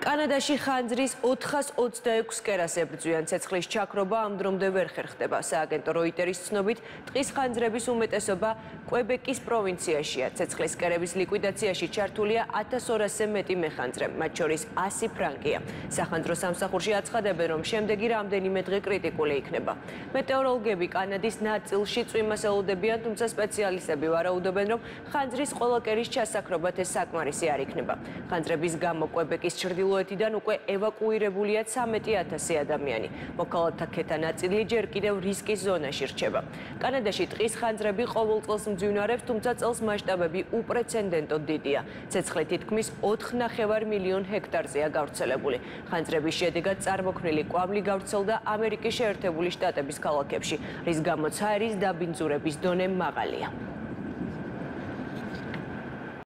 კანადაში ხანძრის 426 კერას ებრძვიან. ცეცხლის ჩაქრობა ამ დრომდე ვერ ხერხდება. სააგენტო როიტერის ცნობით, ტყის ხანძრების უმეტესობა კვებეკის პროვინციაშია. ცეცხლის კერების ლიკვიდაციაში ჩართულია 1200-ზე მეტი მეხანძრე, მათ შორის 100 ფრანკია. სახანძრო სამსახურში აცხადებენ, რომ შემდეგი რამდენიმე დღე კრიტიკული იქნება. მეტეოროლოგები კანადის ნაწილში წვიმას ელოდებიან, თუმცა სპეციალისტები ვარაუდობენ, რომ ხანძრის ყველა კერის ჩასაქრობად ეს საკმარისი არ იქნება. ხანძრების გამო კვებეკის ჩრდილოეთიდან უკვე ევაკუირებულია 13,000 ადამიანი. მოქალაქეთა ქეთა ნაწილი ჯერ კიდევ რისკის ზონაში რჩება. კანადაში ტყის ხანძრები ყოველ წელს მძვინვარებს, თუმცა წელს მასშტაბები უპრეცედენტოდ დიდია. ცეცხლი თითქმის 4,5 მილიონ ჰექტარზეა გავრცელებული. ხანძრების შედეგად წარმოქმნილი კვამლი გავრცელდა ამერიკის შეერთებული შტატების ქალაქებში, რის გამოც ჰაერის დაბინძურების დონე მაღალია.